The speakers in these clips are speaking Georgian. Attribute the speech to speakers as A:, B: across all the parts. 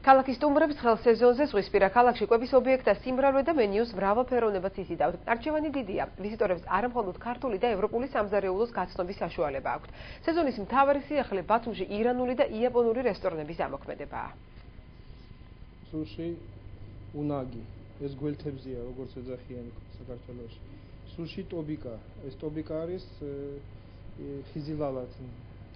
A: ქალაქის სტუმრებს ხელ სეზონზე ზღვისპირა ქალაქში კვების ობიექტთა სიმრავლე და მენიუს მრავალფეროვნებაც იზიდავთ. არჩევანი დიდია. ვიზიტორებს არა მხოლოდ ქართული და ევროპული სამზარეულოს გაცნობის საშუალება აქვთ. სეზონის მთავარი სიახლე ბათუმში ირანული და იაპონური რესტორნების ამოქმედებაა.
B: სუში, უნაგი, ეს გველთებზია, როგორც ეძახიან საქართველოში. სუში ტობიკა, ეს ტობიკა არის ხიზილალათ.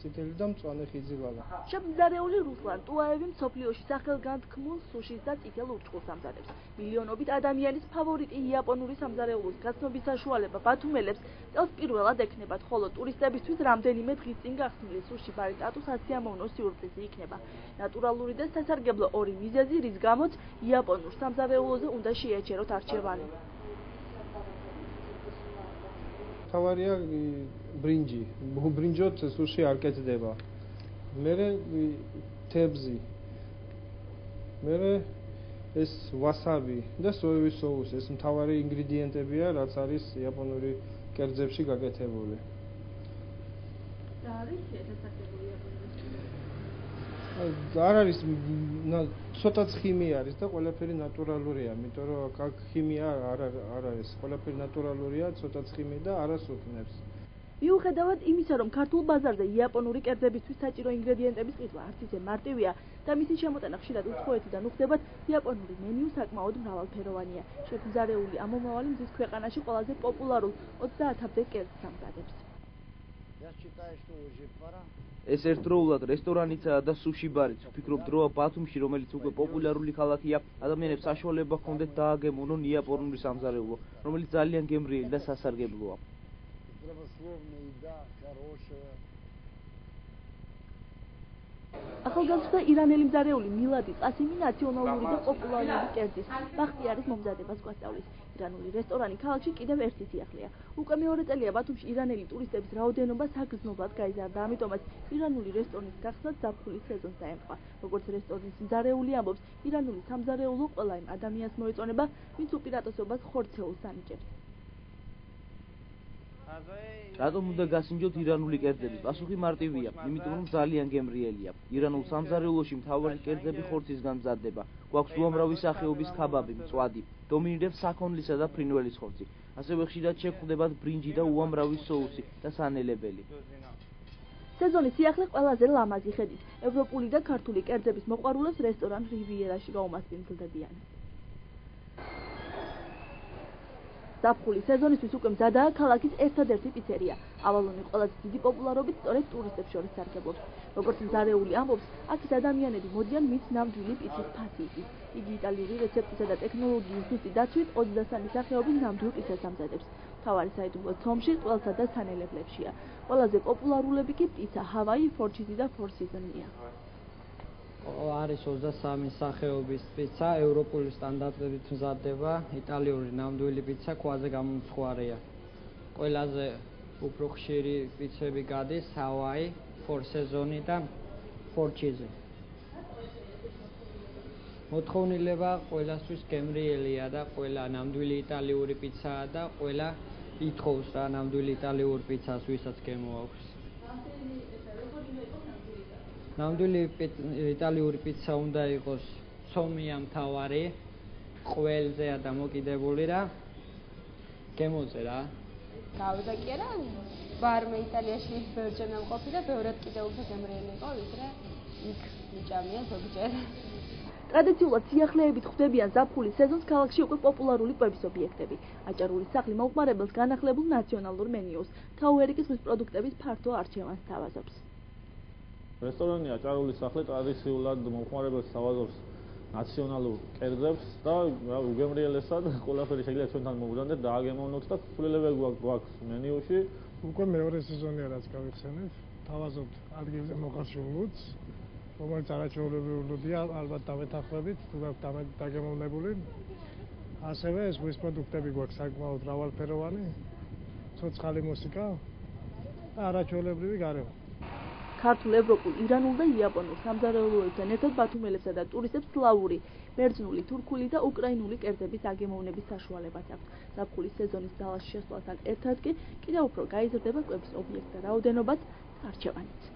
B: წითელი და მწვანე ხიზილალა.
C: შემზარეული რუსლან ტუაევი მსოფლიოში სახელგანთქმულ სუშის და წითელ ურჩხულს ამზადებს. მილიონობით ადამიანის ფავორიტი იაპონური სამზარეულოს გაცნობის საშუალება ბათუმელებს წელს პირველად ექნებათ, ხოლო ტურისტებისთვის რამდენიმე დღის წინ გახსნილი სუში ბარის სტატუსს ასიამოვნო სიურპრიზი იქნება. ნატურალური და სასარგებლო ორი მიზეზი, რის გამოც იაპონურ სამზარეულოზე უნდა შეეჩეროთ არჩევანი.
B: თავარია ბრინჯი, ბრინჯოთ სუში არ კეთდება. მერე თებზი. მერე ეს ვასაბი და სოევის соуს, ეს მთავარი ინგრედიენტებია, რაც არის იაპონური კერძებში გაკეთებული.
C: და არის შესაძლებელი იაპონური.
B: არ არის ცოტა ხიმია არის და ყველაფერი ნატურალურია, იმიტომ რომ აქ ხიმია არ არის, ყველაფერი ნატურალურია, ცოტა ხიმი და არას უქმნებს.
C: მიუხედავად იმისა, რომ ქართულ ბაზარზე იაპონური კერძებისთვის საჭირო ინგრედიენტების ყიდვა არც ისე მარტივია და მისი შემოტანა ხშირად უცხოეთიდან უხდებათ, იაპონური მენიუ საკმაოდ მრავალფეროვანია. შემზარეული ამომავალი მზის ქვეყანაში ყველაზე პოპულარულ 30-მდე კერძს ამზადებს.
D: ეს ერთდროულად რესტორანიცაა და სუში ბარიც. ვფიქრობ, დროა ბათუმში, რომელიც უკვე პოპულარული ქალაქია, ადამიანებს საშუალება ჰქონდეთ დააგემოვნონ იაპონური სამზარეულო, რომელიც ძალიან გემრიელი და სასარგებლოა.
C: ახალგაზრდა ირანელი მზარეული მილადი ყასიმი ნაციონალური და პოპულარული კერძის ბახტიარის მომზადებას გვასწავლის. ირანული რესტორანი ქალაქში კიდევ ერთი სიახლეა. უკვე მეორე წელია ბათუმში ირანელი ტურისტების რაოდენობა საგრძნობლად გაიზარდა, ამიტომაც ირანული რესტორნის გახსნაც ზაფხულის სეზონს დაემთხვა. როგორც რესტორნის მზარეული ამბობს, ირანული სამზარეულო ყველა იმ ადამიანს მოეწონება, ვინც უპირატესობას ხორცეულს ანიჭებს.
D: რატომ უნდა გასინჯოთ ირანული კერძები? პასუხი მარტივია, იმიტომ რომ ძალიან გემრიელია. ირანულ სამზარეულოში მთავარი კერძები ხორცისგან მზადდება. გვაქვს უამრავი სახეობის ქაბაბი, მწვადი. დომინირებს საქონლისა და ფრინველის ხორცი. ასევე ხშირად შეგვხვდებათ ბრინჯი და უამრავი соуსი და სანელებელი.
C: სეზონის სიახლე ყველაზე ლამაზი ხედით. ევროპული და ქართული კერძების მოყვარულებს რესტორან რივიერაში გაუმასპინძლდებიან. ზაფხულის სეზონისთვის უკვე მზადაა ქალაქის ერთადერთი პიცერია. ავალონი ყველაზე დიდი პოპულარობით სწორედ ტურისტებს შორის სარგებლობს. როგორც მზარეული ამბობს, აქ ადამიანები მოდიან მის ნამდვილი პიცის ფასი. იგი იტალიური რეცეპტისა და ტექნოლოგიის ზუსტი დაცვით 23 სახეობის ნამდვილ პიცას ამზადებს. მთავარი საიდუმლო ცომში, ყველსა და სანელებლებშია. ყველაზე პოპულარულები კი პიცა, ჰავაი, ფორჩიზი და ფორსიზონია.
E: არის 23 სახეობის პიცა, ევროპული სტანდარტებით მზადდება, იტალიური ნამდვილი პიცა ქვაზე გამომცხვარია. ყველაზე უფრო ხშირი პიცები გადის ჰავაი, ფორსეზონი და ფორჩიზი. მოთხოვნილება ყველასთვის გემრიელია და ყველა ნამდვილი იტალიური პიცაა და ყველა ითხოვს რა ნამდვილი იტალიური პიცას, ვისაც გემოაქვს. ნამდვილი იტალიური პიცა უნდა იყოს ცომია მთავარი, ყველზეა დამოკიდებული რა. გემოზე რა.
F: გავიდა კი არა, ვარმე იტალიაში ბევრჯერ მყოფი და ბევრად კიდევ უფრო გემრიელი იყო, ვიდრე იქ მიჭამია ზოგჯერ.
C: ტრადიციულად სიახლეებით ხვდებიან ზაფხულის სეზონს ქალაქში უკვე პოპულარული კვების ობიექტები. აჭარული სახლი მომხმარებელს განახლებულ ნაციონალურ მენიუს, თაუერიკის ზღვის პროდუქტების ფართო არჩევანს თავაზობს.
G: რესტორანი აჭარული სახლი ტრადიციულად მომხმარებელს თავაზობს ნაციონალურ კერძებს და უგემრიელესად ყველაფერი შეიძლება ჩვენთან მოვუძანდეთ და აგემოვნოთ და ცვლილებები გვაქვს მენიუში.
H: უკვე მეორე სეზონია რაც გავიხსენეთ, თავაზობთ ადგილზე მოხარშულ ლუდს, რომელიც არაჩვეულებრივი ლუდია, ალბათ დამეთანხმებით, თუ გაქვთ დაგემოვნებული. ასევე ზღვის პროდუქტები გვაქვს საკმაოდ მრავალფეროვანი, ცოცხალი მუსიკა და არაჩვეულებრივი გარემო.
C: ქართულ, ევროპულ, ირანულ და იაპონურ სამზარეულოებთან ერთად ბათუმელებსა და ტურისტებს სლავური, ბერძნული, თურქული და უკრაინული კერძების აგემოვნების საშუალებაც აქვთ. ზაფხულის სეზონის ძალაში შესვლასთან ერთად კი კიდევ უფრო გაიზრდება კვების ობიექტთა რაოდენობაც და არჩევანიც.